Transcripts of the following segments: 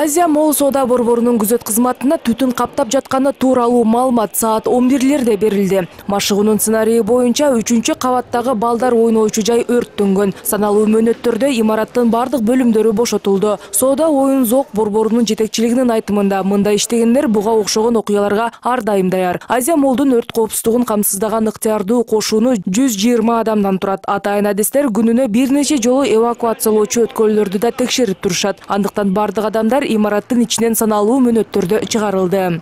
Азия Молл соода борборунун күзөт кызматына түтүн каптап жатканы тууралуу маалымат саат 11:00 берилди. Машыгуунун сценарийи боюнча 3-кабаттагы балдар ойноочу жай өрттөнгөн. Саналуу мөөнөттөрдө имараттын бардык бөлүмдөрү бошотулду. Соода оюн зоок борборунун жетекчилигинин айтымында мындай иштегендер буга окшогон окуяларга ар дайым даяр. Азия Моллдун өрт коопсуздугун камсыздаган ыктыярдуу кошууну 120 адамдан турат. Атайын адистер күнүнө бир нече жолу эвакуациялоочу өткөлдөрдү да текшерип турушат. Андыктан бардык адамдар имараттын ичинен саналуу мөөнөттөрдө чыгарылды.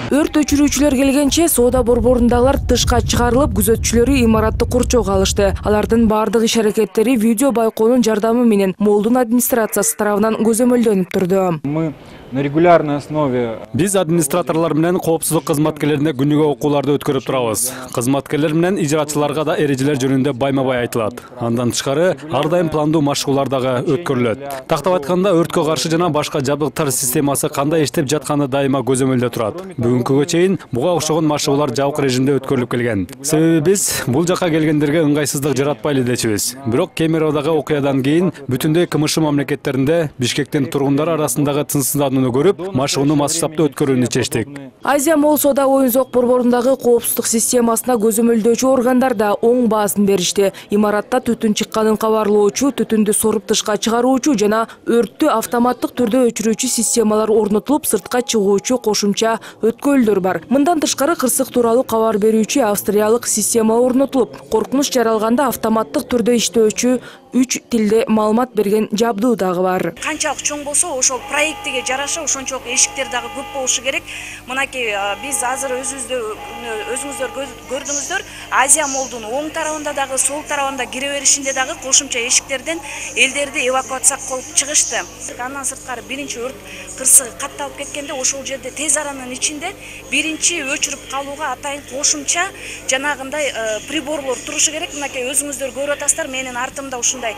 Өрт өчүрүүчүлөр келгенче соода борборундагылар тышка чыгарылып, күзөтчүлөрү имаратты курчоого алышты. Алардын бардык иш-аракеттери видео байкоонун жардамы менен Моллдун администрациясы тарабынан көзөмөлдөнүп турду. Мы на регулярной основе Биз администраторлор менен коопсуздук кызматкерлерине күнүгө окууларды өткөрүп турабыз. Кызматкерлер менен ижраатчыларга да эрежелер жөнүндө байма-бай айтылат. Андан тышкары ар дайым пландуу машыгуулар дагы өткөрүлөт. Тактап айтканда, өрткө каршы жана башка жабдыктар системасы кандай иштеп жатканы дайыма көзөмөлдө турат. Бүгүнкүгө чейин буга окшогон машыгуулар жабык режимде өткөрүлүп келген. Себеби биз бул жака келгендерге ыңгайсыздык жаратпайлы дечүбүз. Бирок Кемеровдагы окуядан кийин бүтүндөй КМШ мамлекеттеринде Бишкектин тургундар арасындагы тынчсызданууну көрүп, машыгууну масштабдуу өткөрүүнү чечтик. Азия Молл соода оюн зоок борборундагы коопсуздук системасына көзөмөлдөөчү органдар да оң баасын беришти. Имаратта түтүн чыкканын кабарлоочу, түтүндү соруп тышка чыгаруучу жана өрттү автоматтык түрдө өчүрүүчү системалар орнотулуп, сыртка чыгуучу кошумча өткөлдөр бар. Мындан тышкары кырсык тууралуу кабар берүүчү австриялык система орнотулуп, коркунуч жаралганда автоматтык түрдө иштөөчү 3 тилде маалымат берген жабдуу дагы бар. Канчалык чоң болсо, ошол проектиге жараша ошончолук эшиктер дагы көп болушу керек. Мынакей биз азыр өзүңүздөр көрдүңүздөр, Азия Моллдун оң тарабында дагы, сол тарабында кире беришинде дагы кошумча эшиктерден элдерди эвакуация кылып чыгышты. Андан сырткары биринчи өрт кырсыгы катталып кеткенде, ошол жерде тез аранын ичинде биринчи өчүрүп калууга атайын кошумча жанагындай приборлор турушу керек. Мынакей өзүңүздөр көрүп атасыздар, менин артымда ушундай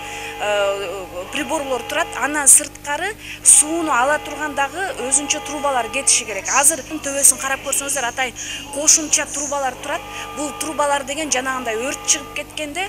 приборлор турат. Андан сырткары сууну ала тургандагы өзүнчө трубалар кетиши керек. Азыр төбөсүн карап көрсөңүздөр, атайын кошумча трубалар турат. Бул трубалар деген жанагындай өрт чыгып кеткенде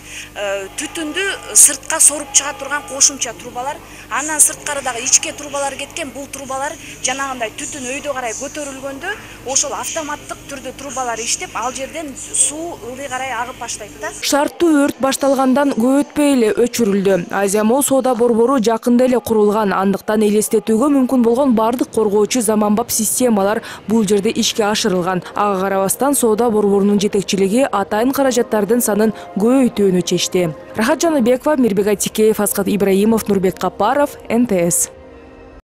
түтүндү сыртка соруп чыга турган кошумча трубалар. Андан сырткары дагы ичке трубалар кеткен. Бул трубалар жанагындай түтүн өйдө карай көтөрүлгөндө ошол автоматтык түрдө трубалар иштеп, ал жерден суу ылдый карай агып баштайт да. Шарттуу өрт башталгандан көп өтпөй эле өчүрүлдү. Азия Молл соода борбору жакында эле курулган, андыктан элестетүүгө мүмкүн болгон бардык коргоочу заманбап системалар бул жерде ишке ашырылган. Ага карабастан соода борборунун жетекчилиги атайын каражаттардын санын көбөйтүүнү чечти. Рахат Жаныбекова, Мирбек Айтикеев, Асхат Ибраимов, Нурбек Капаров, НТС.